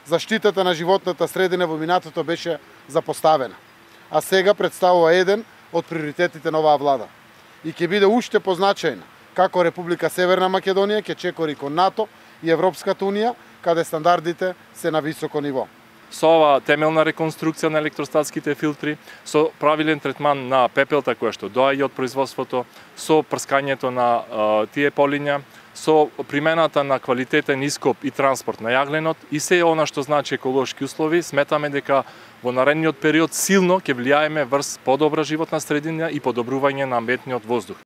Заштитата на животната средина во минатото беше запоставена, а сега представува еден од приоритетите на оваа влада. И ќе биде уште позначајна како Република Северна Македонија ќе чекори кон НАТО и Европската Унија, каде стандардите се на високо ниво. Со ова темелна реконструкција на електростатските филтри, со правилен третман на пепелта која што доаѓа од производството, со прскањето на тие полиња, со примената на квалитетен ископ и транспорт на јагленот и се она што значи еколошки услови, сметаме дека во наредниот период силно ќе влијаеме врз подобра животна средина и подобрување на амбиентниот воздух.